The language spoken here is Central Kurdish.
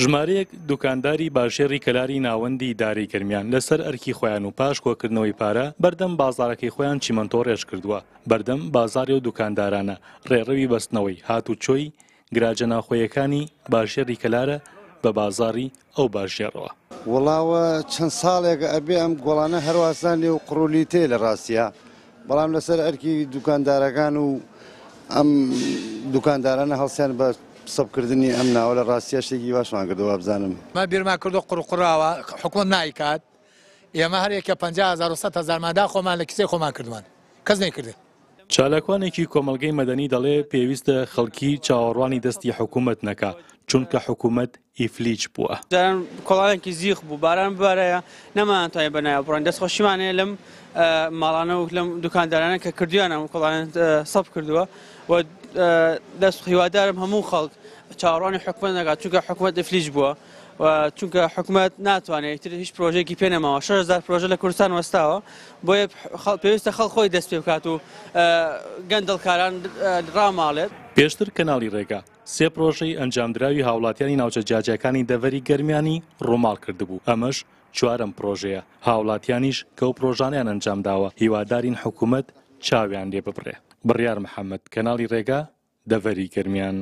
ژمارەیەک دوکانداری باژێڕی کەلاری ناوەندی ئیدارەی گەرمیان لەسەر ئەرکی خۆیان و پاش کۆکردنەوەی پارە بەردەم بازاڕەکەی خۆیان چیمەنتۆ ڕێژ کردووە. بەردەم بازاڕی ئەو دوکاندارانە ڕێڕەوی بەستنەوەی هاتوچۆی گراجە ناوخۆیەکانی باژێڕی کەلارە بە بازاڕی ئەو باژێڕەوە. وەڵا وە چەند ساڵێکە ئەبێ ئەم گۆڵانە هەرواسان لێ و قڕولیتەیە لە ڕاستیا بەڵام لەسەر ئەرکی دوکاندارەکان و ئەم دوکاندارانە هەڵسیان بە سەبکردنی ئەم ناوە لە ڕاستیا شتێکی باشمان کردوە وابزانم. مە بیرمان کردو قڕوقڕاوە حکومەت نایکات ئێمە هەر یەکە 50 هەزار و 100 هەزارمان دا خۆمان لە کیسەی خۆمان کردمان کەس نەیکردن. چالاکوانێکی کۆمەڵگەی مەدەنی دەڵێ پێویستە خەڵکی چاوەڕوانی دەستی حکومەت نەکا، چونکە حکومەت ئیفلیج بووە. جاران کۆڵانێکی زیخ بوو، باران ببارایە نەمانتوانی بەناوی بڕۆین، دەستخۆشیمان هەیە لەم ماڵانە و لەم دوکاندارانە کە کردویانە ئەم کۆڵانە سەف کردووە و دەست هیوادارم هەموو خەڵک چاوەڕوانی حکومەت نەکات، چونکە حکومەت ئیفلیج بووە و چونکە حکومەت ناتوانێت ئیتر هیچ پرۆژەیەکی پێ نەماوە، 6000 پرۆژە لە کوردستان وەستاوە، بۆیە پێویستە خەڵک خۆی دەست پێ بکات و گەندەڵکاران ڕاماڵێت. پێشتر کەناڵی ڕێگا سێ پرۆژەی ئەنجامدراوی هاوڵاتیانی ناوچە جیاجیاکانی دەڤەری گەرمیانی ڕووماڵ کردبوو، ئەمەش چوارەم پرۆژەیە، هاوڵاتیانیش کە ئەو پرۆژانەیان ئەنجامداوە هیوادارین حکومەت چاویان لێ ببڕێ. بڕیار محەمەد، کەناڵی ڕێگا، دەڤەری گەرمیان.